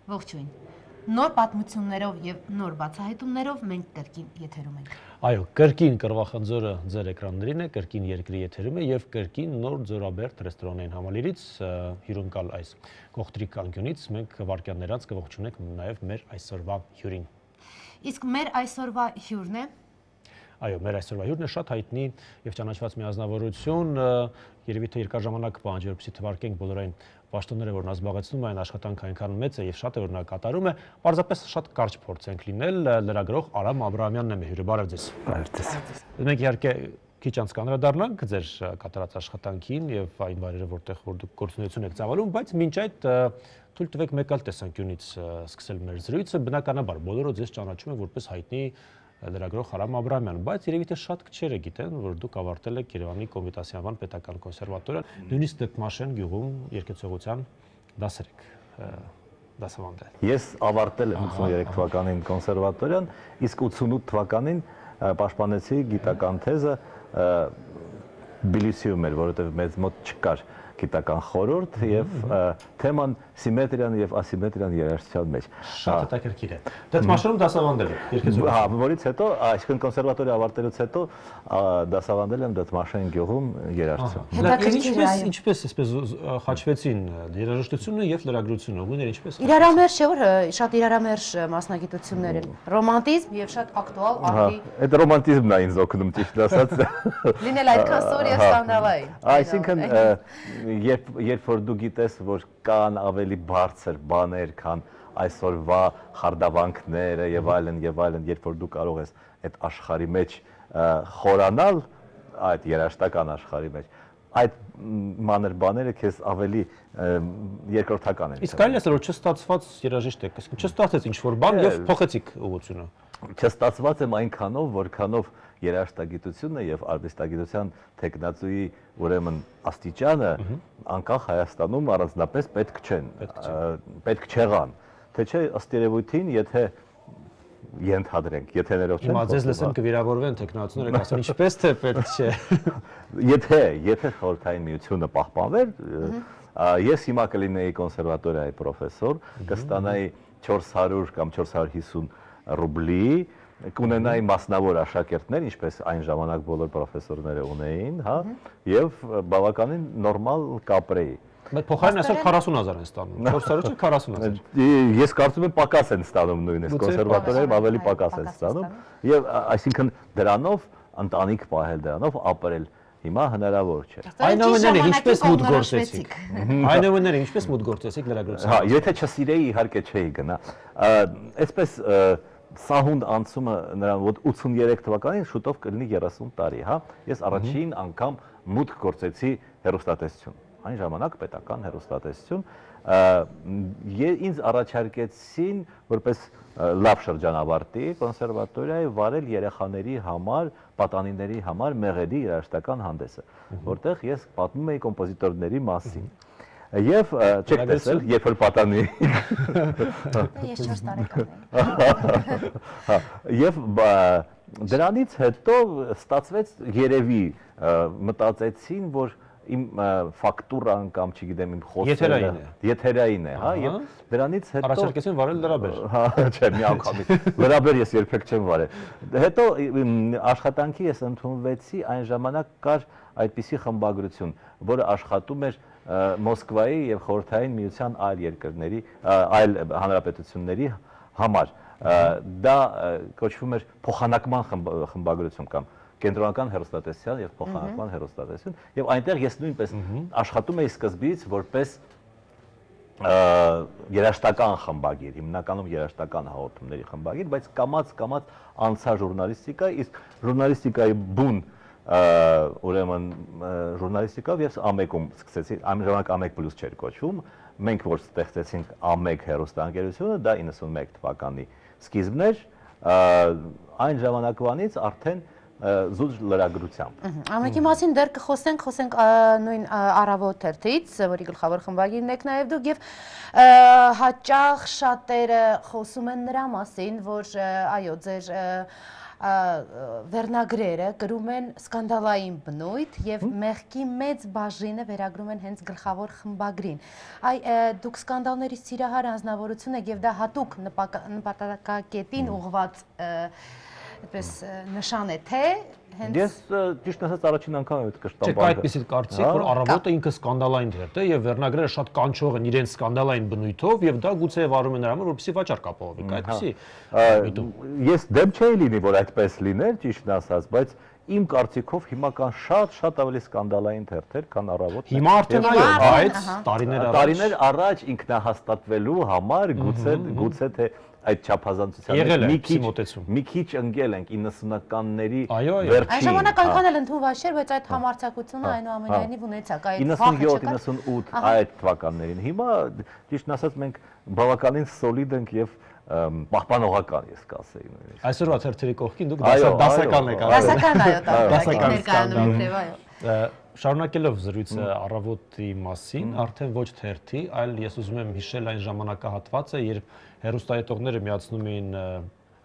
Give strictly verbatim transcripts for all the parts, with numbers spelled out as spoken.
Ողջույն։ Նոր պատմություններով եւ նոր բացահայտումներով մենք կրկին եթերում ենք։ Այո, կրկին կրվախնձորը ձեր էկրաններին է, կրկին երկրի եթերում է եւ կրկին նոր Ձորաբերդ ռեստորանային համալիրից հյուրընկալ այս կողտրիկ անկյունից մենք վարկյաններ անց կողջունենք նաեւ մեր այսօրվա հյուրին։ Իսկ մեր այսօրվա հյուրն է Այո, մեր այսօրվա հյուրն է շատ հայտնի եւ ճանաչված մի ազնվորություն, երևի թե երկար ժամանակ պահանջի, որպեսզի թվարկենք բոլորային պաշտոնները, որ նա զբաղեցնում է, այն աշխատանքը այնքան մեծ է եւ շատ է, որ նա կատարում է, պարզապես շատ կարճ փորձենք լինել, լրագրող Արամ Աբրահամյանն է մեր հյուրը, բարև ձեզ։ Բարև ձեզ։ Մենք իհարկե քիչ անց կանդրադառնանք ձեր կատարած աշխատանքին եւ այն վայրերը, որտեղ որ դուք գործունեություն եք ծավալում, բայց մինչ այդ թույլ տվեք մեկ այլ տեսանկյունից սկսել մեր զրույցը, բնականաբար բոլորը ձեզ ճանաչում են որպես հայտնի լրագրող Արամ Աբրահամյան, բայց երևի թե շատ քչերը գիտեն, որ դուք ավարտել եք Երևանի Կոմիտասյանական պետական կոնսերվատորիան, նույնիսկ Դդմաշեն գյուղում երկեցողության դասեր եք դասավանդել։ Ես ավարտել եմ ութսուներեք թվականին կոնսերվատորիան, իսկ ութսունութ թվականին պաշտպանեցի գիտական թեզը Բիլիսիում էր, որովհետև մեզ մոտ չկար գիտական խորհուրդ եւ թեման սիմետրիան եւ ասիմետրիան երաժշտության մեջ։ Շատ հետաքրքիր է։ Դդմաշենում դասավանդել եք երկեցողություն։ Հա, որից հետո, այսինքն կոնսերվատորիա ավարտելուց հետո դասավանդել եմ Դդմաշեն գյուղում երաժշտություն։ Ինչպես ինչպես այսպես խաչվեցին երաժշտությունը եւ լրագրությունը, ուղիները ինչպես։ Իրարամերժ չէ, որ շատ իրարամերժ մասնագիտություններ են։ Ռոմանտիզմ եւ շատ ակտուալ արտի։ Այդ ռոմանտիզմն է ինձ օգնում ճիշտ ասած։ Լինել այդքան սոր եւ սկանդալային։ Այսինքն Երբ երբ որ դու գիտես, որ կան ավելի բարձր բաներ, քան այսօրվա խարդավանքները եւ այլն եւ այլն, երբ որ դու կարող ես այդ աշխարհի մեջ խորանալ, այդ երաժշտական աշխարհի մեջ, այդ մանր բաները քեզ ավելի երկրորդական են։ Իսկ այլ ասել, որ չստացված երաժիշտ եք, իսկ չստացեց ինչ-որ բան եւ փոխեցիք ուղղությունը։ Չստացված եմ այնքանով, որքանով երաժշտագիտությունը եւ արվեստագիտության տեխնացուի ուրեմն աստիճանը անկախ Հայաստանում առանձնապես պետք չեն, պետք չեղան, թե չէ ըստ երևույթին, եթե ենթադրենք, եթե ներող չեն։ Հիմա ձեզ լսեն կվիրավորվեն տեխնացուները, ասեն ինչպես թե պետք չէ։ Եթե եթե խորհրդային միությունը պահպանվեր, ես հիմա կլինեի կոնսերվատորիայի պրոֆեսոր, կստանայի չորս հարյուր կամ չորս հարյուր հիսուն ռուբլի, կունենայի մասնավոր աշակերտներ, ինչպես այն ժամանակ բոլոր պրոֆեսորները ունեին, հա, եւ բավականին նորմալ կապրեի։ Բայց փոխարեն այսօր քառասուն հազար են ստանում, չորս հարյուր չէ քառասուն հազար։ Ես կարծում եմ պակաս են ստանում նույնիսկ կոնսերվատորիայում ավելի պակաս են ստանում, եւ այսինքն դրանով ընտանիք պահել, դրանով ապրել հիմա հնարավոր չէ։ Այնուամենայնիվ ինչպես մուտք գործեցիք։ Այնուամենայնիվ ինչպես մուտք գործեցիք լրագրության։ Հա, եթե չսիրեի, իհարկե չէի գնա։ Այսպես սահուն անցումը նրան մոտ ութսուներեք թվականին շուտով կլինի երեսուն տարի, հա։ Ես առաջին անգամ մուտք գործեցի հեռուստատեսություն։ Այն ժամանակ պետական հեռուստատեսություն, ինձ առաջարկեցին որպես լավ շրջանավարտի կոնսերվատորիայի վարել երեխաների համար, պատանիների համար մեղեդի երաժշտական հանդեսը, որտեղ ես պատմում էի կոմպոզիտորների մասին։ Եվ չեք տեսել, երբ որ պատանի։ Ես չորս տարեկան եմ։ Եվ դրանից հետո ստացվեց երևի մտածեցին, որ իմ ֆակտուրան կամ չգիտեմ իմ խոսքերը եթերային է, հա, եւ դրանից հետո առաջարկեցին վարել լրաբեր։ Հա, չէ, մի անգամից լրաբեր ես երբեք չեմ վարել։ Հետո աշխատանքի ես ընդունվեցի, այն ժամանակ կար այդպիսի խմբագրություն, որը աշխատում էր Մոսկվայի եւ Խորհրդային Միության այլ երկրների, այլ հանրապետությունների համար։ Դա կոչվում էր փոխանակման խմբագրություն կամ կենտրոնական հեռուստատեսության եւ փոխանակման հեռուստատեսություն, եւ այնտեղ ես նույնպես աշխատում էի սկզբից որպես երաժշտական խմբագիր, հիմնականում երաժշտական հաղորդումների խմբագիր, բայց կամաց-կամաց անցա ժուրնալիստիկա, իսկ ժուրնալիստիկայի բուն ուրեմն ժուրնալիստիկով ես ամեկում սկսեցի, այն ժամանակ ամեկ պլյուս չէր կոչվում, մենք որ ստեղծեցինք ամեկ հեռուստաընկերությունը, դա իննսունմեկ թվականի սկիզբն էր, այն ժամանակվանից արդեն զուտ լրագրությամբ։ Ամեկի մասին դեռ կխոսենք, խոսենք նույն առավոտ թերթից, որի գլխավոր խմբագիրն եք նաև դուք, եւ հաճախ շատերը խոսում են նրա մասին, որ այո, ձեր վերնագրերը գրում են սկանդալային բնույթ եւ մեղքի մեծ բաժինը վերագրում են հենց գլխավոր խմբագրին։ Այ դուք սկանդալների սիրահար անձնավորություն եք եւ դա հատուկ նպատակակետին ուղղված այդպես նշան է, թե հենց Ես ճիշտ ասած առաջին անգամ եմ այդ կշտամբանքը։ Չէ, այդպեսի կարծիք, որ առավոտը ինքը սկանդալային թերթ է եւ վերնագրերը շատ կանչող են իրենց սկանդալային բնույթով եւ դա գուցե վարում են նրան, որպեսզի վաճառք ապահովի, այդպեսի։ Ես դեմ չէի լինի, որ այդպես լիներ, ճիշտն ասած, բայց իմ կարծիքով հիմա կան շատ-շատ ավելի սկանդալային թերթեր, քան առավոտը։ Հիմա արդեն այո, բայց տարիներ առաջ տարիներ առաջ ինքնահաստատվելու համար գուցե գուցե թե այդ չափազանցության մի քիչ մի քիչ ընկել ենք իննսունականների վերջին։ Այն ժամանակ այնքան էլ ընդունված չէր, բայց այդ համարձակությունը այնուամենայնիվ ունեցաք, այդ իննսունյոթ իննսունութ այդ թվականներին։ Հիմա ճիշտն ասած մենք բավականին սոլիդ ենք եւ պահպանողական ես կասեի նույնիսկ։ Այսօրվա թերթերի կողքին դուք դասական եք արել։ Դասական այո, դասական ներկայանում իբրև այո։ Շարունակելով զրույցը առավոտի մասին, արդեն ոչ թերթի, այլ ես ուզում եմ հիշել այն ժամանակահատվածը, երբ հեռուստաետողները միացնում էին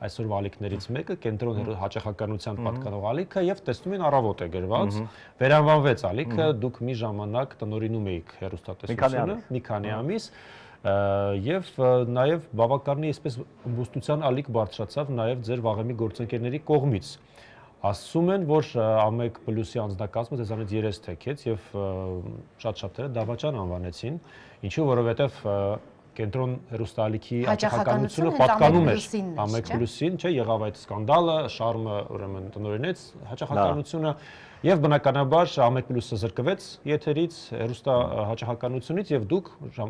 այսօրվա ալիքներից մեկը, կենտրոն հաճախականության պատկանող ալիքը եւ տեսնում են առավոտ է գրված, վերանվանվեց ալիքը, դուք մի ժամանակ տնօրինում էիք հեռուստատեսությունը, մի քանի ամիս եւ նաեւ բավականին այսպես ըմբոստության ալիք բարձրացավ նաեւ ձեր վաղեմի գործընկերների կողմից։ Ասում են, որ ԱՄԵԿ պլյուսի անձնակազմը ձեզանից երես թեքեց եւ շատ շատերը դավաճան անվանեցին, ինչու որովհետեւ կենտրոն հեռուստաալիքի հաճախականությունը պատկանում էր ԱՄԵԿ պլյուսին, չէ, եղավ այդ սկանդալը, Շարմը ուրեմն տնօրինեց հաճախականությունը եւ բնականաբար ԱՄԵԿ պլյուսը զրկվեց եթերից, հեռուստա հաճախականությունից եւ դուք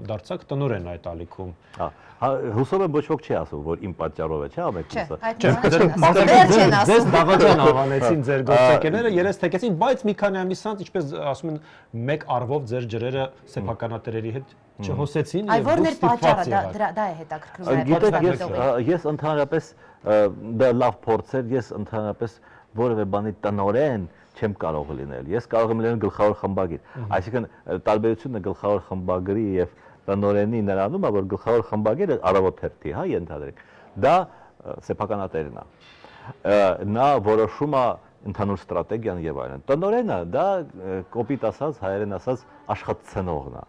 դարձաք տնօրեն այդ ալիքում։ Հուսով եմ ոչ ոք չի ասում, որ իմ պատճառով է, չէ՞ ԱՄԵԿ պլյուսը։ Ձեզ դավաճան անվանեցին ձեր գործընկերները, երես թեքեցին, բայց մի քանի ամիս անց, ինչպես ասում են, մեկ առվով ձեր ջրերը սեփականատերերի հետ չհոսեցին եւ դուք ստիպված եղաք։ Դա է հետաքրքրում։ Գիտեք, ես ընդհանրապես դա լավ փորձ էր, ես ընդհանրապես որևէ բանի տնօրեն չեմ կարող լինել։ Ես կարող եմ լինել գլխավոր խմբագիր։ Այսինքն տարբերությունը գլխավոր խմբագրի եւ տնօրենի նրանում է, որ գլխավոր խմբագիրը առավոտ թերթի, հա, ենթադրենք, դա սեփականատերն է։ Նա որոշում է ընդհանուր ստրատեգիան եւ այլն։ Տնօրենը դա կոպիտ ասած, հայերեն ասած աշխատցնողն է։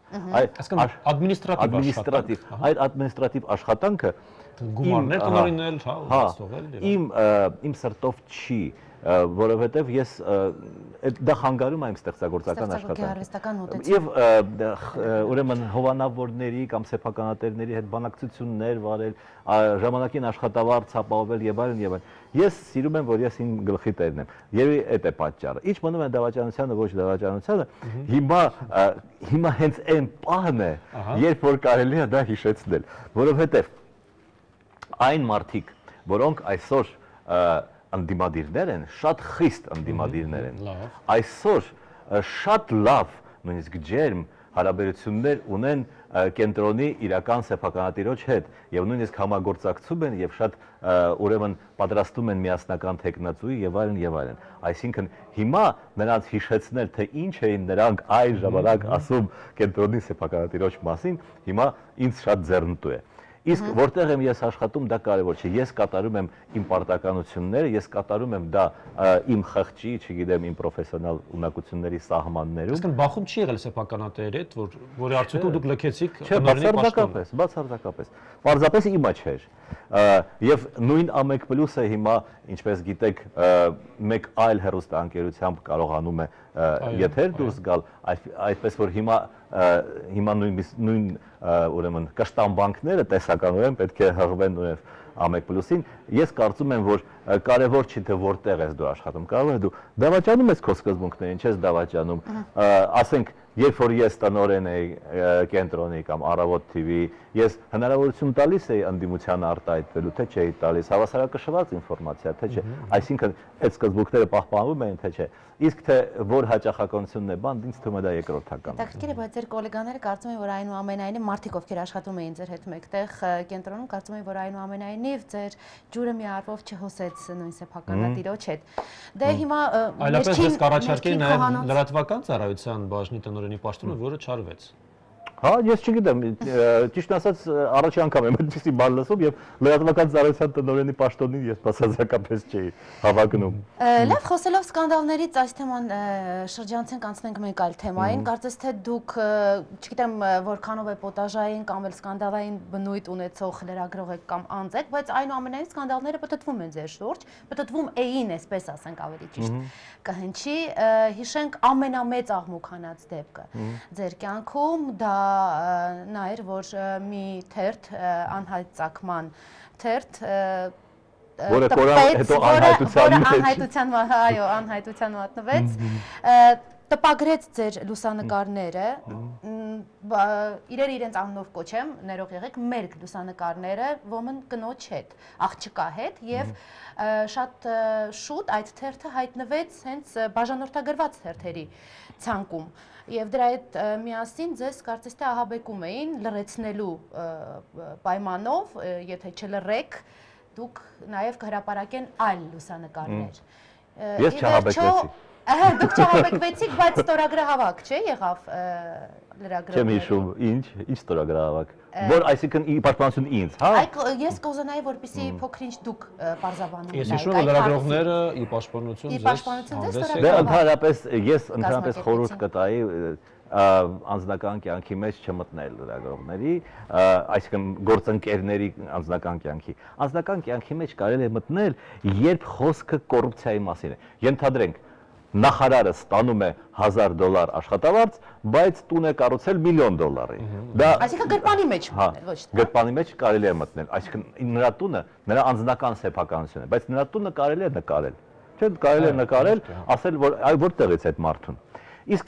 Այսինքն ադմինիստրատիվ աշխատանք։ Այդ ադմինիստրատիվ աշխատանքը գումարներ տնօրինել, հա, ստողել։ Իմ իմ սրտով չի, որովհետև ես դա խանգարում է իմ ստեղծագործական աշխատանքը։ Եվ ուրեմն հովանավորների կամ սեփականատերների հետ բանակցություններ վարել, ժամանակին աշխատավարձ ապահովել եւ այլն եւ այլն։ Ես սիրում եմ, որ ես իմ գլխի տերն եմ։ Եվ այդ է պատճառը։ Ինչ մնում է դավաճանությանը, ոչ դավաճանությանը, հիմա հիմա հենց այն պահն է, երբ որ կարելի է դա հիշեցնել, որովհետև այն մարդիկ, որոնք այսօր անդիմադիրներ են, շատ խիստ անդիմադիրներ են։ Այսօր շատ լավ, նույնիսկ ջերմ հարաբերություններ ունեն կենտրոնի իրական սեփականատիրոջ հետ եւ նույնիսկ համագործակցում են եւ շատ ուրեմն պատրաստում են միասնական տեխնացուի եւ այլն եւ այլն։ Այսինքն հիմա նրանց հիշեցնել, թե ինչ էին նրանք այլ ժամանակ ասում կենտրոնի սեփականատիրոջ մասին, հիմա ինձ շատ ձեռնտու է։ Իսկ որտեղ եմ ես աշխատում, դա կարևոր չէ։ Ես կատարում եմ իմ պարտականությունները, ես կատարում եմ դա իմ խղճի, չգիտեմ, իմ պրոֆեսիոնալ ունակությունների սահմաններում։ Իսկ բախում չի եղել սեփականատերերի հետ, որ որի արդյունքում դուք լքեցիք տնօրենի պաշտոնը։ Բացարձակապես, բացարձակապես։ Պարզապես իմա չէր։ Եվ նույն ԱՄԵԿ պլյուսը հիմա, ինչպես գիտեք, մեկ այլ հեռուստաընկերությամբ կարողանում է եթեր դուրս գալ, այդպես որ հիմա հիմա նույն ուրեմն կշտամբանքները տեսականորեն պետք է հղվեն նույնիսկ ԱՄԵԿ պլյուսին։ Ես կարծում եմ, որ կարևոր չի թե որտեղ ես դու աշխատում, կարող է դու դավաճանում ես քո սկզբունքներին, չես դավաճանում, ասենք, երբ որ ես տնօրեն էի կենտրոնի կամ Առավոտ թիվի, ես հնարավորություն տալիս էի ընդդիմությանը արտահայտվելու, թե չէի տալիս, հավասարակշռված ինֆորմացիա, թե չէ, այսինքն այդ սկզբունքները պահպանվում են, թե չէ։ Իսկ թե որ հաճախականությունն է բան, ինձ թվում է դա երկրորդական։ Հետաքրքիր է, բայց ձեր գոլեգաները կարծում են, որ այնուամենայնիվ մարդիկ, ովքեր աշխատում էին ձեր հետ մեկտեղ կենտրոնում, կարծում են, որ այնուամենայնիվ ձեր ջուրը մի առվով չհոսեց նույն սեփականատիրոջ հետ։ Դե հիմա այլապես ես կառաջարկեի նաև լրատվական ծառայության բաժնի տնօրենի պաշտոնը, որը չարվեց։ Հա, ես չգիտեմ, ճիշտ ասած առաջի անգամ եմ այդպիսի բան լսում եւ լրատվական ծառայության տնօրենի պաշտոնին ես բացարձակապես չէի հավակնում։ Լավ, խոսելով սկանդալներից, այս թեման շրջանցենք, անցնենք մեկ այլ թեմային, կարծես թե դուք, չգիտեմ, որքանով է պոտաժային կամ էլ սկանդալային բնույթ ունեցող լրագրող եք կամ անձ եք, բայց այնուամենայնիվ սկանդալները պտտվում են ձեր շուրջ, պտտվում էին, այսպես ասենք ավելի ճիշտ կհնչի, հիշենք ամենամեծ աղմուկանաց դեպքը ձեր կյանքում, դա նա էր, որ մի թերթ, անհայտ ծագման թերթ, որը կորան հետո անհայտության, այո, անհայտության մատնվեց, տպագրեց ձեր լուսանկարները, իրեր իրենց անունով կոչեմ, ներող եղեք, մեր լուսանկարները ոմն կնոջ հետ, աղջկա հետ և շատ շուտ այդ թերթը հայտնվեց հենց բաժանորդագրված թերթերի ցանկում և դրա հետ միասին ձեզ կարծես թե ահաբեկում էին լռեցնելու պայմանով, եթե չլռեք, դուք նաև կհրապարակեն այլ լուսանկարներ։ Ես չահաբեկվեցի։ Դուք չահաբեկվեցիք, բայց ստորագրահավաք չէ եղավ լրագրողները։ Չեմ հիշում, ինչ, ինչ ստորագրահավաք։ Որ այսինքն ի պաշտպանություն ինձ, հա։ Ես կուզենայի, որպեսզի փոքր-ինչ դուք պարզաբանում եք։ Ես հիշում եմ լրագրողները ի պաշտպանություն ձեզ։ Դե ընդհանրապես ես ընդհանրապես խորհուրդ կտայի անձնական կյանքի մեջ չմտնել լրագրողների, այսինքն գործընկերների անձնական կյանքի։ Անձնական կյանքի մեջ կարելի է մտնել, երբ խոսքը կոռուպցիայի մասին է։ Ենթադրենք, նախարարը ստանում է հազար դոլար աշխատավարձ, բայց տուն է կառուցել միլիոն դոլարի։ Այսինքն գրպանի մեջ մտնել, ոչ թե։ Գրպանի մեջ կարելի է մտնել, այսինքն նրա տունը նրա անձնական սեփականությունն է, բայց նրա տունը կարելի է նկարել։ Չէ՞, կարելի է նկարել, ասել, որ այ որտեղից է այդ մարդուն։ Իսկ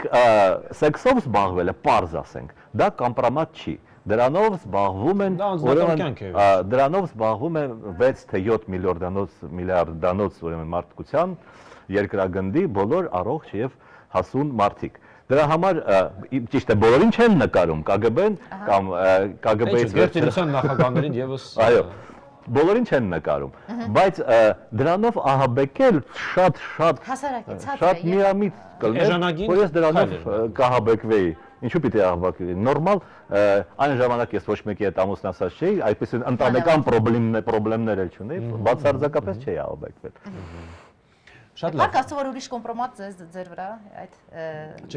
սեքսով զբաղվելը, պարզ ասենք, դա կամպրոմատ չի։ Դրանով զբաղվում են, ուրեմն դրանով զբաղվում է վեց թե յոթ միլիարդանոց ուրեմն մարդկության երկրագնդի բոլոր առողջ եւ հասուն մարդիկ։ Դրա համար ճիշտ է, բոլորին չեն նկարում, ԿԳԲ-ն կամ ԿԳԲ-ից վերջերության նախագահներին եւս այո, բոլորին չեն նկարում, բայց դրանով ահաբեկել շատ շատ շատ միամիտ կլներ, որ ես դրանով կահաբեկվեի։ Ինչու պիտի ահաբեկվեի։ Նորմալ այն ժամանակ ես ոչ մեկի հետ ամուսնացած չէի, այդպես ընտանեկան խնդիրներ էլ չունեի, բացարձակապես չէի ահաբեկվել։ Շատ լավ։ Կարծում որ ուրիշ կոմպրոմատ ձեր վրա այդ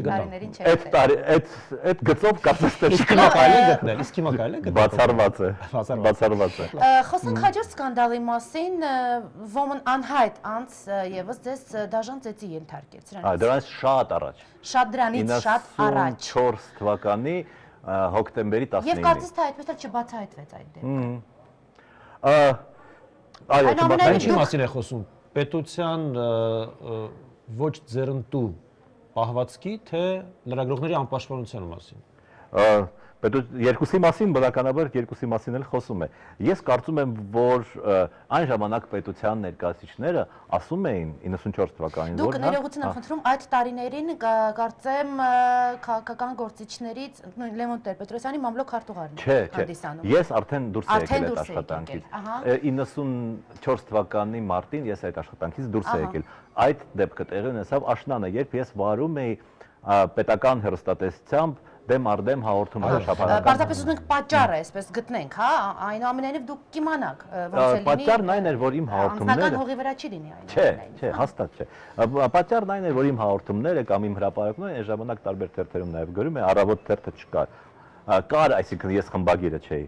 տարիներին չէ։ Այդ տարի այդ այդ գծով կարծես թե հիմա կարելի է գտնել, իսկ հիմա կարելի է գտնել։ Բացառված է, բացառված է։ Խոսենք հաջորդ սկանդալի մասին, ոմն անհայտ անց եւս ձեզ դաժան ծեծի ենթարկեց դրանից։ Այ դրանից շատ առաջ։ Շատ դրանից շատ առաջ։ իննսունչորս թվականի հոկտեմբերի տասնինը։ Եվ կարծես թե այդպես էլ չբացահայտվեց այդ դեպքը։ Այո, չբացահայտվեց։ Ինչի մասին է խոսում։ Պետության ոչ ձեռնտու պահվածքի, թե լրագրողների անպաշտպանության մասին։ Երկուսի մասին, բնականաբար երկուսի մասին էլ խոսում է։ Ես կարծում եմ, որ այն ժամանակ պետության ներկայացուցիչները ասում էին իննսունչորս թվականին, որ դուք ներողություն եմ խնդրում, այդ տարիներին կարծեմ քաղաքական գործիչներից Լևոն Տեր-Պետրոսյանի մամլոք քարտուղարն է հանդիսանում։ Ես արդեն դուրս եմ եկել այդ աշխատանքից։ իննսունչորս թվականի մարտին ես այդ աշխատանքից դուրս եմ եկել։ Այդ դեպքը տեղի ունեցավ աշնանը, երբ ես վարում էի պետական հեռուստատեսությամբ դեմ արդեմ հաղորդումներ շաբաթական։ Պարզապես ուզում ենք պատճառը այսպես գտնենք, հա, այնուամենայնիվ դուք կիմանաք ոնց է լինի։ Պատճառն այն էր, որ իմ հաղորդումները անձնական հողի վրա չի լինի այն։ Չէ, չէ, հաստատ չէ։ Պատճառն այն էր, որ իմ հաղորդումները կամ իմ հրապարակումները այն ժամանակ տարբեր թերթերում նաև գրում է, առավոտ թերթը չկար։ Կար, այսինքն ես խմբագիրը չէի։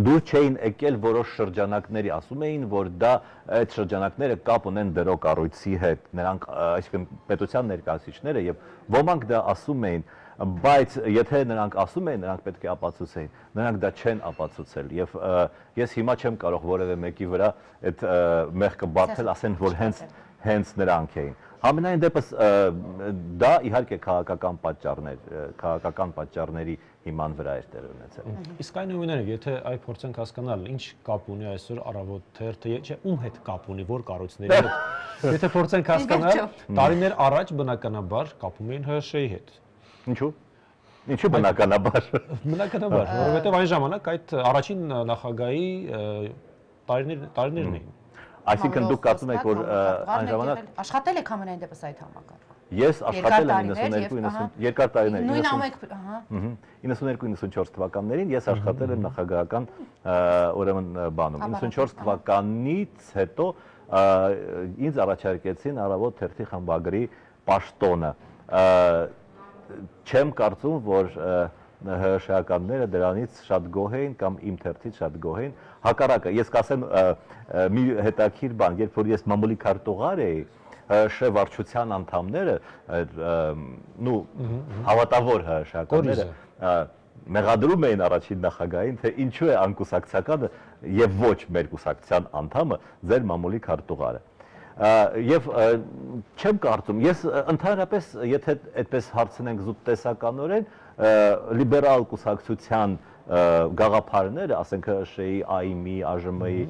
Դուր չէին եկել որոշ շրջանակների, ասում էին, որ դա այդ շրջանակները կապ ունեն դրո կառույցի հետ, նրանք, այսինքն պետության ներկայացուցիչները եւ ոմանք դա ասում էին, բայց եթե նրանք ասում էին, նրանք պետք է ապացուցեին, նրանք դա չեն ապացուցել եւ ես հիմա չեմ կարող որևէ մեկի վրա այդ մեղքը բարթել, ասեն, որ հենց հենց նրանք էին։ Համենայն դեպս դա իհարկե քաղաքական պատճառներ, քաղաքական պատճառների հիման վրա էր տեղ ունեցել։ Իսկ այնուամենայնիվ, եթե այ փորձենք հասկանալ, ինչ կապ ունի այսօր Առավոտ թերթը, չէ, ում հետ կապ ունի, որ կառույցների հետ։ Եթե փորձենք հասկանալ, տարիներ առաջ բնականաբար կապում էին ՀՀՇ-ի հետ։ Ինչու՞։ Ինչու բնականաբար։ Բնականաբար, որովհետև այն ժամանակ այդ առաջին նախագահի տարիներն էին։ Այսինքն դուք կարծում եք, որ այն ժամանակ աշխատել եք ամենայն դեպս այդ համակարգում։ Ես աշխատել եմ իննսուններկու իննսուն երկար տարիներ նույն ամեկ, ահա։ իննսուններկու իննսունչորս թվականներին ես աշխատել եմ նախագահական ուրեմն բանում։ իննսունչորս թվականից հետո ինձ առաջարկեցին Առավոտ թերթի խմբագրի պաշտոնը։ Չեմ կարծում, որ հրաշականները դրանից շատ գոհ էին կամ իմ թերթից շատ գոհ էին։ Հակառակը, ես կասեմ մի հետաքրքիր բան, երբ որ ես մամուլի քարտուղար էի, ՀՀՇ վարչության անդամները, նու հավատավոր հրաշականները մեղադրում էին առաջին նախագահին, թե ինչու է անկուսակցականը եւ ոչ մեր կուսակցության անդամը ձեր մամուլի քարտուղարը։ Եվ չեմ կարծում, ես ընդհանրապես, եթե այդպես հարցնենք զուտ տեսականորեն, լիբերալ կուսակցության գաղափարները, ասենք ՀՀՇ-ի, ԱԻՄ-ի, ԱԺՄ-ի,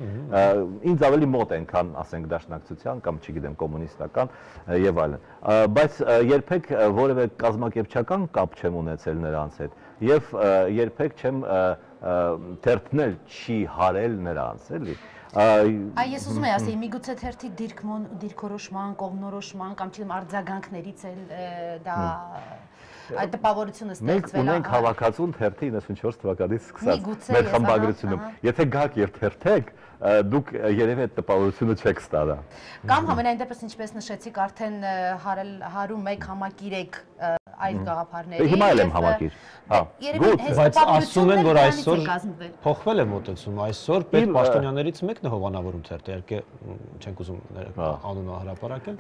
ինձ ավելի մոտ են, քան ասենք դաշնակցության կամ չգիտեմ կոմունիստական եւ այլն։ Բայց երբեք որևէ կազմակերպչական կապ չեմ ունեցել նրանց հետ եւ երբեք չեմ թերթնել չի հարել նրանց, էլի։ Այ ես ուզում եմ ասել, միգուցե թերթի դիրքորոշման, կողմնորոշման կամ չգիտեմ արձագանքներից էլ դա այդ տպավորությունը ստեղծվել է։ Մենք ունենք հավաքածուն թերթի իննսունչորս թվականից սկսած մեր խմբագրությունում։ Եթե գաք եւ թերթեք, դուք երևի այդ տպավորությունը չեք ստանա։ Կամ համենայն դեպս ինչպես նշեցիք, արդեն հարում եք, համակիր եք այդ գաղափարների։ Հիմա էլ եմ համակիր։ Հա։ Բայց ասում են, որ այսօր փոխվել է մոտեցումը, այսօր պետ պաշտոնյաներից մեկն է հովանավորում թերթը, իհարկե չենք ուզում անունը հրապարակել։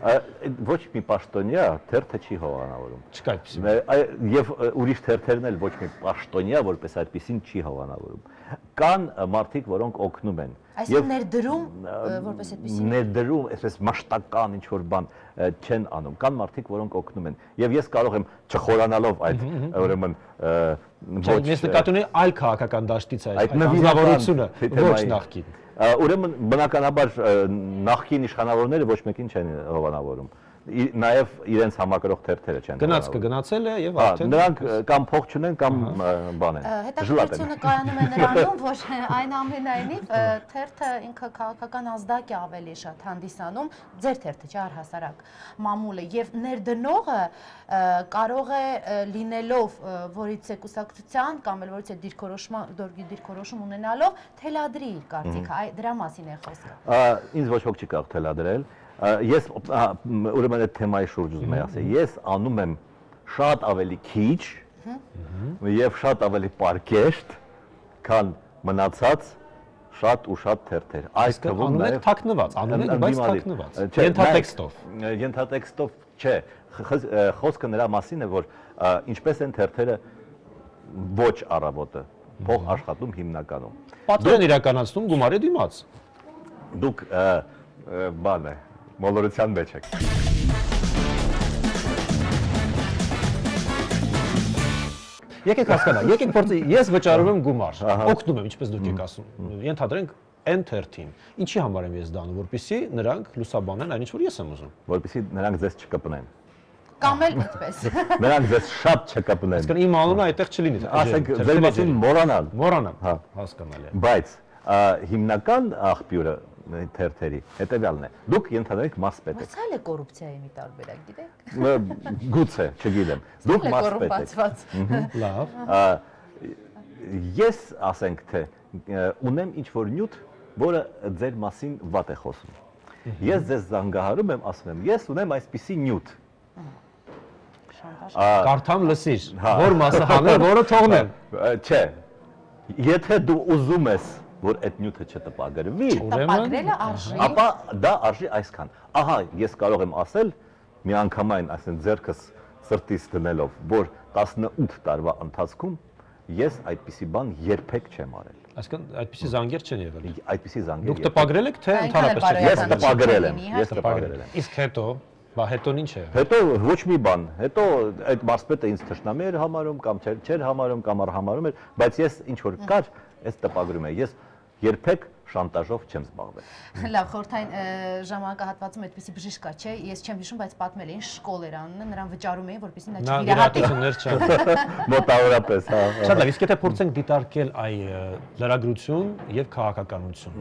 Ոչ մի պաշտոնյա թերթը չի հովանավորում։ Չկա այդպիսի։ Եվ ուրիշ թերթերն էլ ոչ մի պաշտոնյա, որպես այդպեսին չի հովանավորում։ Կան մարդիկ, որոնք օգնում են։ Այսինքն ներդրում, որպես այդպեսի։ Ներդրում, այսպես մաշտական ինչ-որ բան չեն անում։ Կան մարդիկ, որոնք օգնում են։ Եվ ես կարող եմ չխորանալով այդ ուրեմն ոչ ես նկատի ունեի այլ քաղաքական դաշտից այդ նվիրավորությունը, ոչ նախկին։ Ուրեմն բնականաբար նախկին իշխանավորները ոչ մեկին չեն հովանավորում։ Նաև իրենց համակրող թերթերը չեն։ Գնաց կգնացել է եւ արդեն նրանք կամ փող չունեն կամ բան են։ Հետաքրքրությունը կայանում է նրանում, որ այն ամենայնիվ թերթը ինքը քաղաքական ազդակ է ավելի շատ հանդիսանում, ձեր թերթը չէ, առհասարակ մամուլը, եւ ներդնողը կարող է լինելով որից է կուսակցության կամ էլ որից է դիրքորոշման դիրքորոշում ունենալով թելադրի իր կարծիքը, դրա մասին է խոսքը։ Ինձ ոչ ոք չի կարող թելադրել։ Ես ուրեմն այդ թեմայի շուրջ ուզում եմ ասել, ես անում եմ շատ ավելի քիչ եւ շատ ավելի պարկեշտ, քան մնացած շատ ու շատ թերթեր։ Այս թվում նաեւ թաքնված, անում եք, բայց թաքնված։ Ենթատեքստով։ Ենթատեքստով չէ, խոսքը նրա մասին է, որ ինչպես են թերթերը ոչ առավոտը, փող աշխատում հիմնականում։ Պատվեր են իրականացնում գումարի դիմաց։ Դուք բան է մոլորության մեջ եք։ Եկեք հասկանանք, եկեք փորձի, ես վճարում եմ գումար, օգնում եմ, ինչպես դուք եք ասում։ Ենթադրենք N թերթին։ Ինչի համար եմ ես դա անում, որպեսզի նրանք լուսաբանեն այն ինչ որ ես եմ ուզում։ Որպեսզի նրանք ձեզ չկպնեն։ Կամ էլ այդպես։ Նրանք ձեզ շատ չկպնեն։ Այսինքն իմ անունը այդտեղ չլինի։ Ասենք ձեր մասին մոռանալ։ Մոռանամ։ Հա, հասկանալի է։ Բայց հիմնական աղբյուրը թերթերի հետևյալն է։ Դուք ենթադրեք մարզպետ եք։ Ո՞ց է կոռուպցիայի մի տարբերակ, գիտեք։ Գուցե, չգիտեմ։ Դուք մարզպետ եք։ Լավ։ Ես ասենք թե ունեմ ինչ-որ նյութ, որը ձեր մասին վատ է խոսում։ Ես ձեզ զանգահարում եմ, ասում եմ, ես ունեմ այսպիսի նյութ։ Կարդամ լսիր, որ մասը հանել, որը թողնեմ։ Չէ։ Եթե դու ուզում ես որ այդ նյութը չտպագրվի, տպագրելը արժի, ապա դա արժի այսքան։ Ահա, ես կարող եմ ասել մի անգամայն, ասենք ձեռքս սրտից դնելով, որ տասնութ տարվա ընթացքում ես այդպիսի բան երբեք չեմ արել։ Այսինքն այդպիսի զանգեր չեն եղել։ Այդպիսի զանգեր։ Դուք տպագրել եք թե ընդհանրապես չեք։ Ես տպագրել եմ, ես տպագրել եմ։ Իսկ հետո, բա հետոն ինչ է։ Հետո ոչ մի բան, հետո այդ մարզպետը ինձ թշնամի էր համարում կամ չէր համարում կամ առհամարում էր, բայց ես ինչ որ կար, ես տպագրում եմ։ Ես երբեք շանտաժով չեմ զբաղվել։ Լավ, խորհրդային ժամանակահատվածում այդպիսի բժիշկ կա, չէ՞, ես չեմ հիշում, բայց պատմել էին շկոլ էր անունը, նրան վճարում էին, որպեսզի նա չվիրահատի։ Մոտավորապես, հա։ Շատ լավ, իսկ եթե փորձենք դիտարկել այ լրագրություն եւ քաղաքականություն,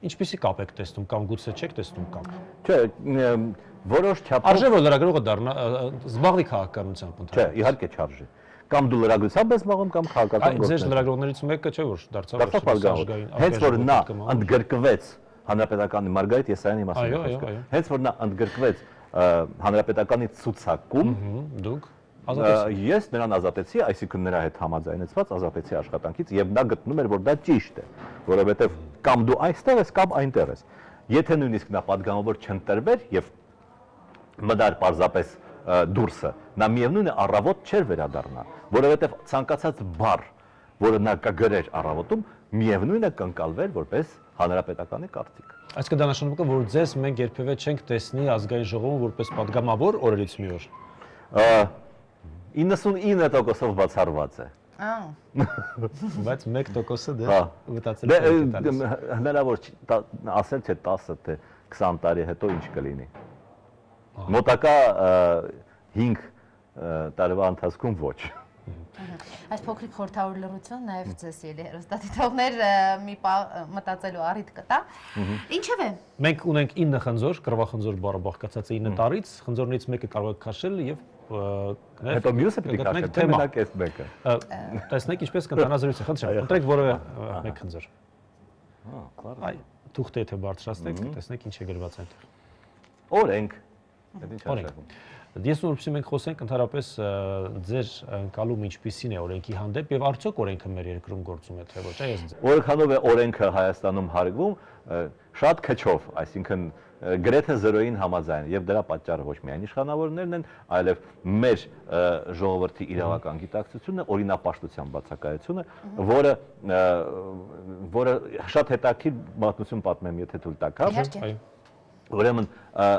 ինչպիսի կապ եք տեսնում կամ գուցե չեք տեսնում կապ։ Չէ, որոշ չափով Արժե որ լրագրողը դառնա զբաղվի քաղաքականությամբ Չէ, իհարկե չարժե։ Կամ դու լրագրությամբ ես զբաղվում կամ քաղաքական գործ։ Ձեր լրագրողներից մեկը չէ որ դարձավ ազգային։ Հենց որ նա ընդգրկվեց Հանրապետականի Մարգարիտ Եսայանի մասին խոսքը։ Հենց որ նա ընդգրկվեց Հանրապետականի ցուցակում, դուք ես նրան ազատեցի, այսինքն նրա հետ համաձայնեցված ազատեցի աշխատանքից եւ նա գտնում էր որ դա ճիշտ է, որովհետեւ կամ դու այստեղ ես կամ այնտեղ ես։ Եթե նույնիսկ նա падգամավոր չընտրվեր եւ մդար պարզապես դուրսը, նա միևնույն է առավոտ չէր վերադառնա, որովհետև ցանկացած բառ, որը նա կգրեր առավոտում, միևնույն է կընկալվեր որպես հանրապետականի կարծիք։ Այսինքն դա նշանակում է, որ ձեզ մենք երբևէ չենք տեսնի ազգային ժողովում որպես падգամավոր օրերից մի օր։ իննսունինը տոկոսով բացառված է։ Ահա։ Բայց մեկ տոկոսը դե մտածել եք տալիս։ Հնարավոր ասել թե տասը թե քսան տարի հետո ինչ կլինի։ Մոտակա հինգ տարվա ընթացքում ոչ։ Այս փոքրիկ խորհրդավոր լռություն նաև ձեզ ելի հեռուստադիտողներ մի մտածելու առիթ կտա։ Ինչևէ։ Մենք ունենք ինը խնձոր, կռվախնձոր բառը բաղկացած է ինը տարից, խնձորներից մեկը կարող եք քաշել եւ հետո մյուսը պետք է քաշել, թե մենակ այս մեկը։ Տեսնեք ինչպես կընթանա զրույցը, խնդրեմ, ընտրեք որևէ մեկ խնձոր։ Հա, clar։ Այ թուղթե եթե բարձրացնեք, տեսնեք ինչ է գրված այնտեղ։ Օրենք։ Դա ինչ է։ Ես որպեսզի մենք խոսենք ընդհանրապես ձեր ընկալում ինչպիսին է օրենքի հանդեպ եւ արդյոք օրենքը մեր երկրում գործում է թե ոչ, այս ձեր։ Որքանով է օրենքը Հայաստանում հարգվում, շատ քչով, այսինքն գրեթե զրոյին համաձայն եւ դրա պատճառը ոչ միայն իշխանավորներն են, այլև մեր ժողովրդի իրավական գիտակցությունը, օրինապաշտության բացակայությունը, որը որը շատ հետաքրքիր պատմություն պատմեմ, եթե թույլ տաք, այո։ Ուրեմն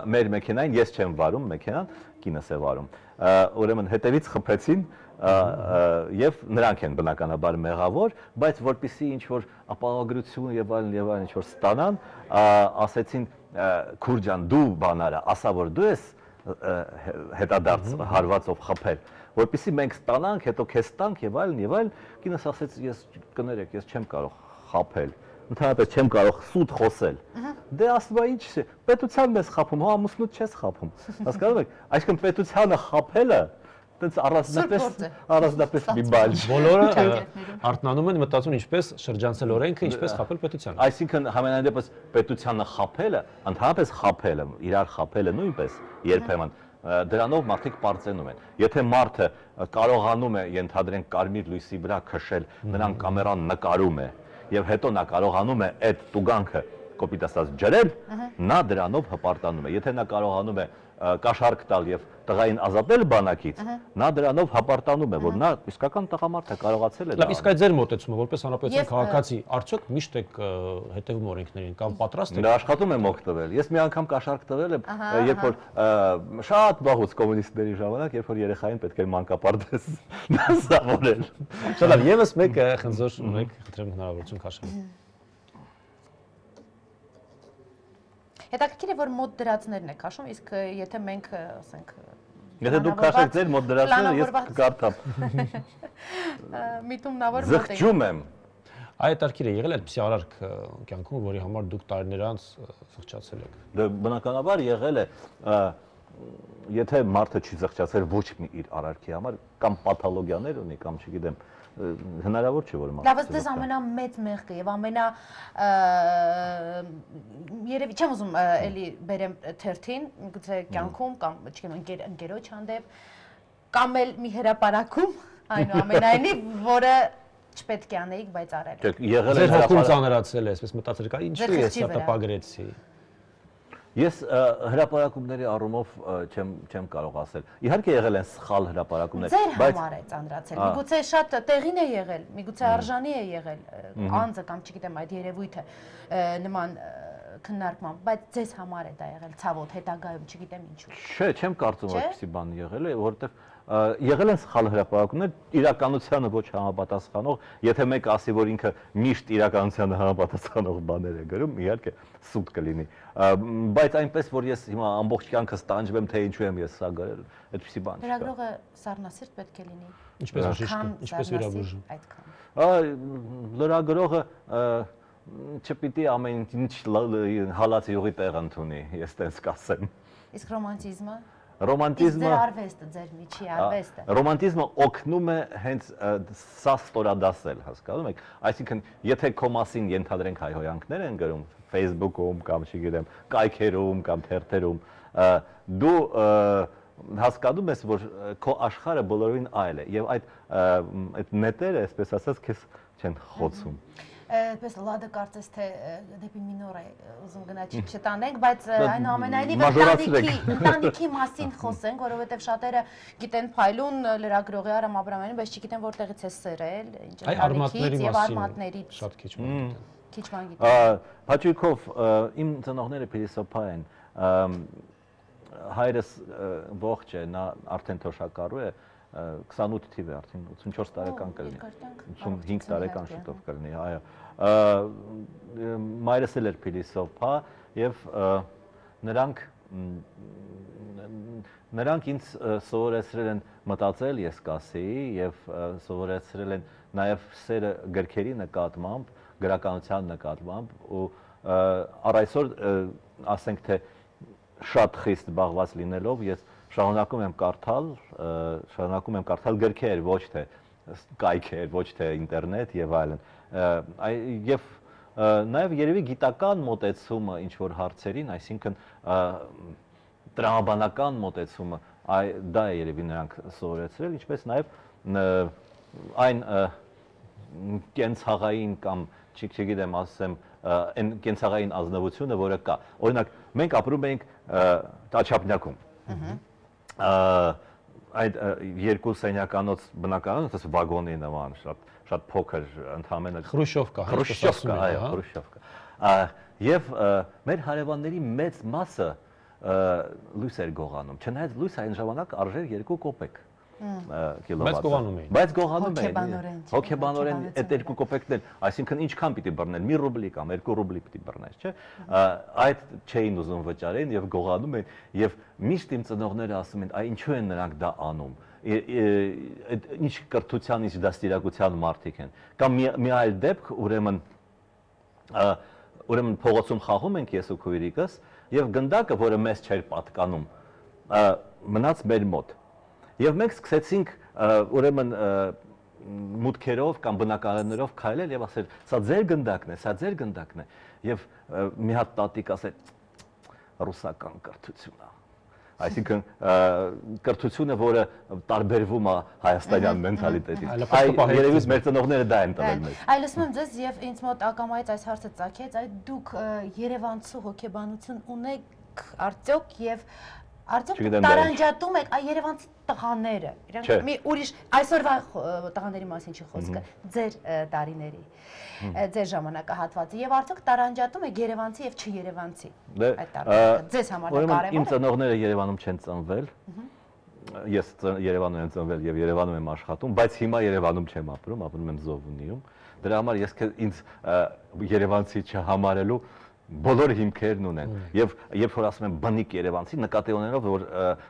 մեր մեքենային ես չեմ վարում մեքենան, կինս է վարում։ Ուրեմն հետևից խփեցին եւ նրանք են բնականաբար մեղավոր, բայց որpիսի ինչ որ ապահովագրություն եւ այլն եւ այլն ինչ որ ստանան, ասեցին Քուրջան դու բանարա, ասա որ դու ես հետադարձ հարվածով խփել, որpիսի մենք ստանանք, հետո քեզ տանք եւ այլն եւ այլն, կինս ասեց ես կներեք, ես չեմ կարող խփել։ Ընդհանրապես չեմ կարող սուտ խոսել։ Դե ասում ինչ է, պետությանն ես խափում, հա ամուսնուդ չես խափում։ Հասկանում եք, այսինքն պետությանը խափելը տենց առանձնապես առանձնապես մի բան չէ։ Բոլորը արտնանում են մտածում ինչպես շրջանցել օրենքը, ինչպես խափել պետությանը։ Այսինքն համենայն դեպս պետությանը խափելը, ընդհանրապես խափելը, իրար խափելը նույնպես երբեմն դրանով մարդիկ պարծենում են։ Եթե մարդը կարողանում է ենթադրենք կարմիր լույսի վրա քշել, նրան կամերան նկարում է եւ հետո նա կարողանում է այդ տուգանքը կոպիտ ասած ջրել, նա դրանով հպարտանում է։ Եթե նա կարողանում է կաշառք տալ եւ տղային ազատել բանակից, նա դրանով հպարտանում է, որ նա իսկական տղամարդ է, կարողացել է դա։ Լավ, իսկ այդ ձեր մոտեցումը որպես հանրապետության քաղաքացի, արդյոք միշտ եք հետևում օրենքներին կամ պատրաստ եք։ Դա աշխատում եմ օգտվել։ Ես մի անգամ կաշառք տվել եմ, երբ որ շատ վաղուց կոմունիստների ժամանակ, երբ որ երեխային պետք էր մանկապարտեզ դասավորել։ Շատ լավ, եւս մեկ խնձոր ունեք, խնդրեմ հնարավորություն քաշել։ Հետաքրքիր է որ մոտ դրածներն եք քաշում, իսկ եթե մենք, ասենք, եթե դուք քաշեք ձեր մոտ դրածները, ես կկարդամ։ Միտումնավոր մոտ եք։ Զղջում եմ։ Այդ արկիր է եղել այդպիսի արարք կյանքում, որի համար դուք տարիներ անց զղջացել եք։ Դա բնականաբար եղել է, եթե մարդը չի զղջացել ոչ մի իր արարքի համար, կամ պաթոլոգիաներ ունի, կամ չգիտեմ, հնարավոր չէ որ մարդը։ Լավ, ըստ ամենամեծ մեղքը եւ ամենա երևի չեմ ուզում էլի բերեմ թերթին, գուցե կյանքում կամ չգիտեմ ընկերոջ հանդեպ կամ էլ մի հրապարակում, այնուամենայնիվ, որը չպետք է անեիք, բայց արել եք։ Եղել է հոգում ծանրացել է, այսպես մտածել կա, ինչու ես սա տպագրեցի։ Ես հրապարակումների առումով չեմ չեմ կարող ասել։ Իհարկե եղել են սխալ հրապարակումներ, բայց ձեր համար է ծանրացել։ Միգուցե շատ տեղին է եղել, միգուցե արժանի է եղել անձը կամ չգիտեմ այդ երևույթը նման քննարկման, բայց ձեզ համար է դա եղել ցավոտ հետագայում, չգիտեմ ինչու։ Չէ, չեմ կարծում այդպեսի բան եղել է, որովհետև եղել են սխալ հրապարակումներ, իրականությանը ոչ համապատասխանող, եթե մեկ ասի, որ ինքը միշտ իրականությանը համապատասխանող բաներ է գրում, իհարկե սուտ կլինի։ Բայց այնպես, որ ես հիմա ամբողջ կյանքս տանջվեմ, թե ինչու եմ ես սա գրել, այդպիսի բան չկա։ Լրագրողը սառնասիրտ պետք է լինի։ Ինչպես բժիշկը, ինչպես վիրաբույժը։ Այդքան։ Լրագրողը չպիտի ամեն ինչ հալած յուղի տեղ ընդունի, ես տենց կասեմ։ Իսկ ռոմանտիզմը։ Ռոմանտիզմը ձեր արվեստը, ձեր միջի արվեստը։ Ռոմանտիզմը օգնում է հենց սա ստորադասել, հասկանում եք։ Այսինքն, եթե քո մասին ենթադրենք հայհոյանքներ են գրում Facebook-ում կամ չգիտեմ, կայքերում կամ թերթերում, դու հասկանում ես, որ քո աշխարհը բոլորովին այլ է եւ այդ այդ նետերը, այսպես ասած, քեզ չեն խոցում։ Պես լադը կարծես թե դեպի մինոր է ուզում գնա չտանենք, բայց այնուամենայնիվ ընտանիքի ընտանիքի մասին խոսենք, որովհետև շատերը գիտեն փայլուն լրագրողի Արամ Աբրամյանին, բայց չգիտեն որտեղից է սերել, ինչ ընտանիքից եւ արմատներից։ Շատ քիչ բան գիտեն։ Քիչ բան գիտեն։ Փաչույքով իմ ծնողները փիլիսոփա են։ Հայրս ողջ է, նա արդեն թոշակառու է, քսանութ թիվ է արդեն ութսունչորս տարեկան կլինի, ութսունհինգ տարեկան շուտով կլինի, այո։ Մայրս էլ էր փիլիսոփա եւ նրանք նրանք ինձ սովորեցրել են մտածել, ես կասեի, եւ սովորեցրել են նաեւ սերը գրքերի նկատմամբ, գրականության նկատմամբ ու առ այսօր ասենք թե շատ խիստ զբաղված լինելով ես շարունակում եմ կարդալ, շարունակում եմ կարդալ գրքեր, ոչ թե կայքեր, ոչ թե ինտերնետ եւ այլն։ Եվ նաեւ երևի գիտական մոտեցումը ինչ որ հարցերին, այսինքն տրամաբանական մոտեցումը, դա է երևի նրանք սովորեցրել, ինչպես նաեւ այն կենցաղային կամ չգիտեմ, ասեմ, այն կենցաղային ազնվությունը, որը կա։ Օրինակ, մենք ապրում ենք Տաչապնյակում։ Այդ երկու սենյականոց բնակարանը, ասես վագոնի նման, շատ շատ փոքր ընդհանրապես Խրուշովկա, Խրուշովկա, այո, Խրուշովկա։ Եվ մեր հարևանների մեծ մասը լույս էր գողանում, չնայած լույսը այն ժամանակ արժեր երկու կոպեկ կիլովատ։ Բայց գողանում էին։ Բայց գողանում էին։ Հոգեբանորեն այդ երկու կոպեկներ, այսինքն ինչքան պիտի բռնել, մի ռուբլի կամ երկու ռուբլի պիտի բռնես, չէ՞։ Այդ չէին ուզում վճարեն եւ գողանում են եւ միշտ իմ ծնողները ասում են, այ ինչու են նրանք դա անում։ Ինչ կրթության, ինչ դաստիարակության մարդիկ են։ Կամ մի այլ դեպք, ուրեմն ուրեմն փողոցում խաղում ենք ես ու քույրիկս եւ գնդակը, որը մեզ չէր պատկանում, մնաց մեր մոտ։ Եվ մենք սկսեցինք ուրեմն մուտքերով կամ բնակարաններով քայլել եւ ասել, սա ձեր գնդակն է, սա ձեր գնդակն է։ Եվ մի հատ տատիկ ասել, ռուսական կրթություն է։ Այսինքն կրթությունը, որը տարբերվում է հայաստանյան մենթալիտետից։ Այ երևի մեր ծնողները դա են տվել մեզ։ Այ լսում եմ ձեզ եւ ինձ մոտ ակամայից այս հարցը ծագեց, այ դուք Երևանցու հոգեբանություն ունեք արդյոք եւ արդյոք տարանջատում եք այ երևանցի տղաները, իրանք մի ուրիշ այսօրվա տղաների մասին չի խոսքը, ձեր տարիների, ձեր ժամանակահատվածի եւ արդյոք տարանջատում եք երևանցի եւ չերևանցի այդ տարբերակը, ձեզ համար դա կարեւոր է։ Իմ ծնողները Երևանում չեն ծնվել, ես Երևանում եմ ծնվել եւ Երևանում եմ աշխատում, բայց հիմա Երևանում չեմ ապրում, ապրում եմ Զովունիում։ Դրա համար ես ինձ երևանցի չհամարելու բոլոր հիմքերն ունեն եւ երբ որ ասում են բնիկ երևանցի նկատի ունենով որ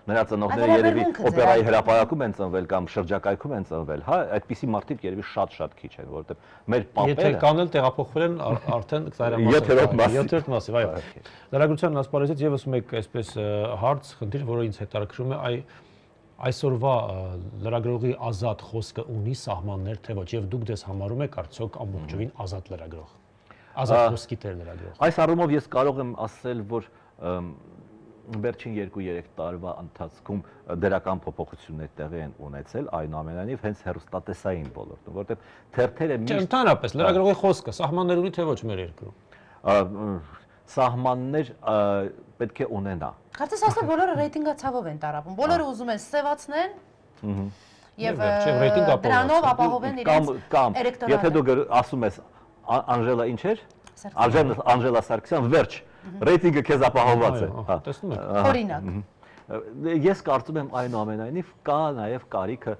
նրա ծնողները երևի օպերայի հրապարակում են ծնվել կամ շրջակայքում են ծնվել, հա, այդպիսի մարդիկ երևի շատ-շատ քիչ են, որովհետեւ մեր պապերը եթե կան էլ տեղափոխվել են արդեն յոթերորդ մասի, այո։ Լրագրության ասպարեզից եւս մեկ այսպես հարց, խնդիր, որը ինձ հետաքրքրում է, այ այսօրվա լրագրողի ազատ խոսքը ունի սահմաններ թե ոչ եւ դուք դες համարում եք արդյոք ամբողջովին ազատ լրագրող։ Ազատ խոսքի տեր լրագրող։ Այս առումով ես կարող եմ ասել, որ վերջին երկու-երեք տարվա ընթացքում դրական փոփոխություններ տեղի են ունեցել, այնուամենայնիվ հենց հեռուստատեսային ոլորտում, որտեղ թերթերը միշտ Ընդհանրապես լրագրողի խոսքը սահմաններ ունի թե ոչ մեր երկրում։ Սահմաններ պետք է ունենա։ Կարծես ասեմ բոլորը ռեյտինգացավով են տարապում, բոլորը ուզում են սևացնել եւ դրանով ապահովեն իրենց էլեկտորատը։ Եթե դու ասում ես Անժելա ինչ էր? Անժելա Սարգսյան, վերջ, ռեյտինգը քեզ ապահովված է։ Տեսնում եք։ Օրինակ։ ես կարծում եմ այնուամենայնիվ կա նաև կարիքը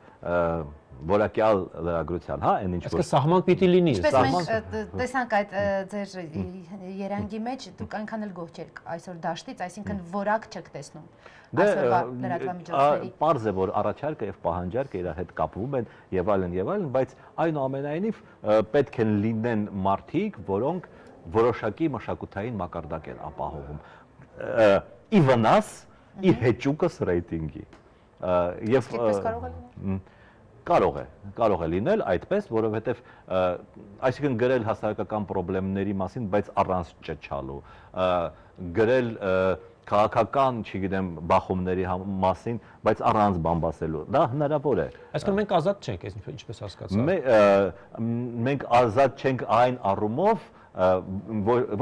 որակյալ լրագրության, հա, այն ինչ որ Այսինքն սահման պիտի լինի։ Ինչպես մենք տեսանք այդ ձեր երանգի մեջ, դուք այնքան էլ գոհ չեք այսօր դաշտից, այսինքն որակ չեք տեսնում այսօրվա լրատվամիջոցների։ Պարզ է, որ առաջարկը եւ պահանջարկը իրար հետ կապվում են եւ այլն եւ այլն, բայց այնուամենայնիվ պետք են լինեն մարդիկ, որոնք որոշակի մշակութային մակարդակ են ապահովում։ Ի վնաս ի հեճուկս ռեյտինգի։ Եվ կարող է, կարող է լինել այդպես, որովհետև այսինքն գրել հասարակական խնդիրների մասին, բայց առանց ճճալու, գրել քաղաքական, չգիտեմ, բախումների մասին, բայց առանց բամբասելու, դա հնարավոր է։ Այսինքն մենք ազատ չենք, ինչպես հասկացա։ Մենք ազատ չենք այն առումով,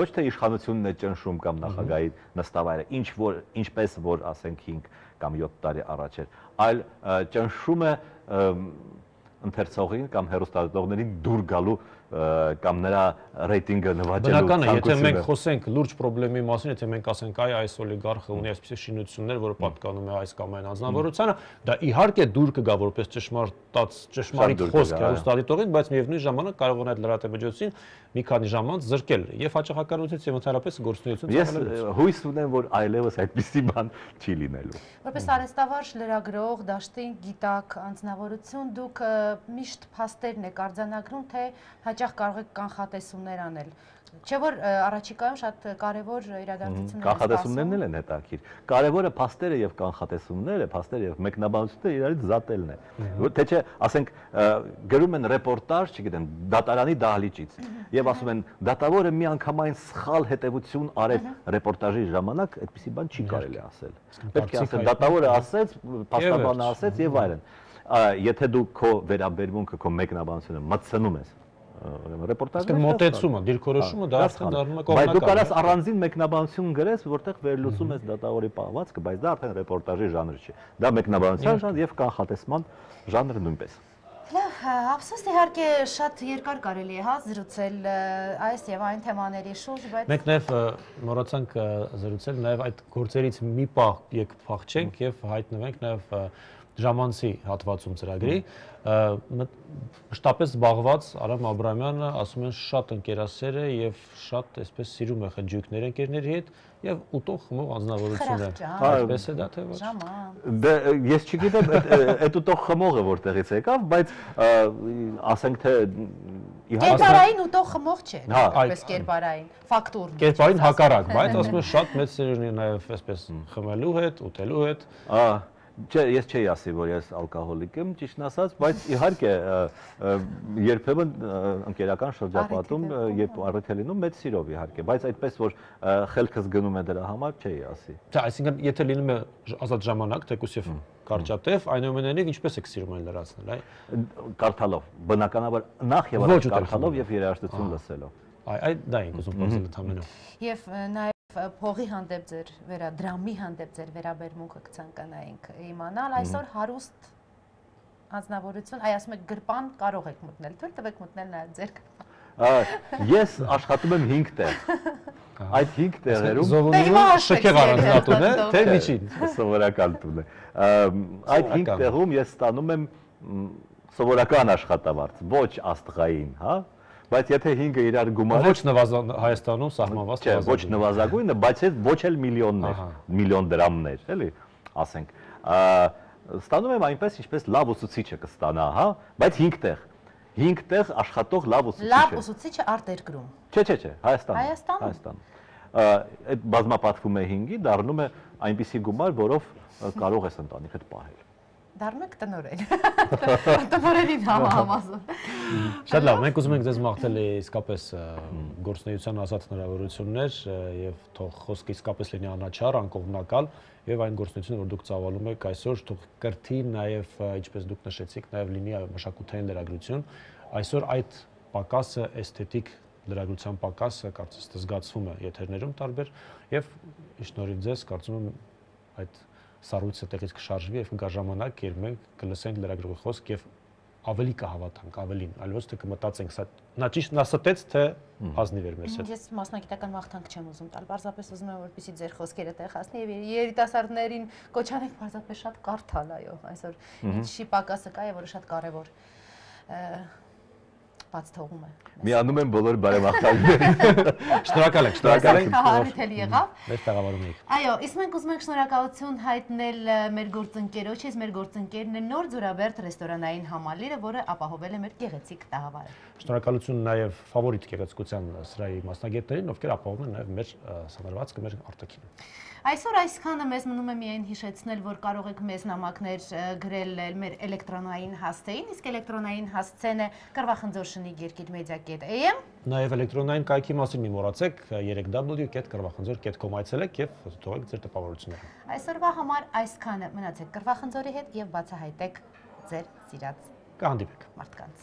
ոչ թե իշխանությունն է ճնշում կամ նախագահի նստավայրը, ինչ որ ինչպես որ ասենք հինգ կամ յոթ տարի առաջ էր, այլ ճնշում է ընթերցողին կամ հեռուստադիտողներին դուր գալու կամ նրա ռեյտինգը նվաճելու Բնական է, եթե մենք խոսենք լուրջ խնդրի մասին, եթե մենք ասենք այ այս օլիգարխը ունի այսպիսի շինություններ, որը պատկանում է այս կամ այն անձնավորությանը, դա իհարկե դուր կգա որպես ճշմարտած ճշմարիտ խոսք հեռուստադիտողին, բայց միևնույն ժամանակ կարող է այդ լրատվամիջոցին մի քանի ժամ անց զրկել եւ հաճախականությունից եւ ընդհանրապես գործունեություն ծավալելուց։ Ես հույս ունեմ, որ այլևս այդպիսի բան չի լինելու։ Որպես արհեստավարժ, լրագրող, դաշտի գիտակ, անձնավորություն, դուք միշտ փաստերն եք արձանագրում, թե հաճախ կարող եք կանխատեսումներ անել։ Չէ՞ որ առաջիկայում շատ կարևոր իրադարձություններ են կանխատեսումներն էլ են հետաքրքիր։ Կարևորը փաստերը եւ կանխատեսումները, փաստերը եւ մեկնաբանությունները իրարից զատելն է։ Թե չէ, ասենք գրում են ռեպորտաժ, չգիտեմ, դատարանի դահլիճից եւ ասում են դատավորը միանգամայն սխալ հետեւություն արեց ռեպորտաժի ժամանակ, այդպիսի բան չի կարելի ասել։ Պետք է ասել դատավորը ասեց, փաստաբանը ասեց եւ այլն։ Եթե դու քո վերաբերմունքը, քո մեկնաբանությունը մտցնում ես ռեպորտաժը մոտեցումը, դիրքորոշումը դա արդեն դառնում է կողմնակալ։ Բայց դու կարաս առանձին մեկնաբանություն գրես, որտեղ վերլուծում ես դատավորի պահվածքը, բայց դա արդեն ռեպորտաժի ժանր չի։ Դա մեկնաբանության ժանր եւ կանխատեսման ժանրը նույնպես։ Լավ, ափսոս իհարկե շատ երկար կարելի է հա զրուցել այս եւ այն թեմաների շուրջ, բայց մենք նաեւ մոռացանք զրուցել նաեւ այդ գործերից մի պահ եկ փախչենք եւ հայտնվենք նաեւ ժամանցի հատվածում ծրագրի մշտապես զբաղված Արամ Աբրամյանը ասում են շատ ընկերասեր է եւ շատ այսպես սիրում է խնջույքներ ընկերների հետ եւ ուտող խմող անձնավորություն է։ Այդպես է դա թե ոչ։ Դե ես չգիտեմ այդ ուտող խմողը որտեղից եկավ, բայց ասենք թե կերպարային ուտող խմող չէ, այսպես կերպարային, ֆակտուր։ Կերպարային հակառակ, բայց ասում են շատ մեծ սեր ունի նաեւ այսպես խմելու հետ, ուտելու հետ։ Չէ, ես չէի ասի, որ ես ալկոհոլիկ եմ, ճիշտն ասած, բայց իհարկե երբեմն ընկերական շրջապատում, երբ առիթ է լինում, մեծ սիրով իհարկե, բայց այդպես որ խելքս գնում է դրա համար, չէի ասի։ Չէ, այսինքն եթե լինում է ազատ ժամանակ, թեկուզ եւ կարճատև, այնուամենայնիվ ինչպես եք սիրում այն լրացնել, այ կարդալով, բնականաբար նախ եւ առաջ կարդալով եւ երաժշտություն լսելով։ Այ այդ դա ենք ուզում խոսել ընդհանրապես։ Եվ նաեւ փողի հանդեպ ձեր վերադրամի հանդեպ ձեր վերաբերմունքը կցանկանայինք իմանալ այսօր հարուստ անձնավորություն, այ ասում եք գրպան կարող եք մտնել, թույլ տվեք մտնել նաեւ ձեր գրպան։ Ես աշխատում եմ հինգ տեղ։ Այդ հինգ տեղերում զովունիը շքեղ առանձնատուն է, թե միջին։ Սովորական տուն է։ Այդ հինգ տեղում ես ստանում եմ սովորական աշխատավարձ, ոչ աստղային, հա։ Բայց եթե հինգը իրար գումարել, ոչ նվազագույն Հայաստանում սահմանված չէ, ոչ նվազագույնը, բայց այդ ոչ էլ միլիոններ, միլիոն դրամներ, էլի, ասենք։ Ստանում եմ այնպես, ինչպես լավ ուսուցիչը կստանա, հա, բայց հինգ տեղ։ հինգ տեղ աշխատող լավ ուսուցիչ է։ Լավ ուսուցիչը արտերկրում։ Չէ, չէ, չէ, Հայաստանում։ Հայաստանում։ Հայաստանում։ Այդ բազմապատկվում է հինգի, դառնում է այնպիսի գումար, որով կարող ես ընտանիքդ պահել։ Դառնում եք տնօրեն։ Տնօրենին համազում։ Շատ լավ, մենք ուզում ենք ձեզ մաղթել իսկապես գործունեության ազատ հնարավորություններ եւ թող խոսքը իսկապես լինի անաչառ, անկողմնակալ եւ այն գործունեությունը, որ դուք ծավալում եք այսօր, թող կրթի նաեւ, ինչպես դուք նշեցիք, նաեւ լինի մշակութային լրագրություն։ Այսօր այդ պակասը, էսթետիկ լրագրության պակասը կարծես թե զգացվում է եթերներում տարբեր եւ շնորհիվ ձեզ կարծում եմ այդ սառույցը տեղից կշարժվի եւ կգա ժամանակ, երբ մենք կլսենք լրագրողի խոսք եւ ավելի կհավատանք, ավելին, այլ ոչ թե կմտածենք, սա նա ճիշտ նա ստեց, թե ազնիվ էր մեզ հետ։ Ես մասնագիտական մաղթանք չեմ ուզում տալ, պարզապես ուզում եմ որպեսզի ձեր խոսքերը տեղացնի եւ երիտասարդներին կոչանենք պարզապես շատ կարդալ, այո, այսօր ինչի պակասը կա եւ որը շատ կարեւոր բաց թողում է։ Միանում եմ բոլոր բարեմաղթանքներին։ Շնորհակալ ենք, շնորհակալ ենք։ Հարթել եղավ։ Մեր տեղավորում եք։ Այո, իսկ մենք ուզում ենք շնորհակալություն հայտնել մեր գործընկերոջից, մեր գործընկերն է Նոր Ձորաբերդ ռեստորանային համալիրը, որը ապահովել է մեր գեղեցիկ տաղավարը։ Շնորհակալություն նաև ֆավորիտ գեղեցկության սրահի մասնագետներին, ովքեր ապահովում են նաև մեր սանրվածքը, մեր արտաքինը։ Այսօր այսքանը մեզ մնում է միայն հիշեցնել, որ կարող եք մեզ նամակներ գրել մեր էլեկտրոնային հասցեին, իսկ էլեկտրոնային հասցեն է Կռվախնձոր երկիր մեդիա կետ էյ էմ։ Նաև էլեկտրոնային կայքի մասին մի մոռացեք, երեք w կետ կռվախնձոր կետ կոմ այցելեք եւ թողեք ձեր տպավորությունները։ Այսօրվա համար այսքանը, մնացեք Կռվախնձորի հետ եւ բացահայտեք ձեր սիրած Կհանդիպենք մարդկանց։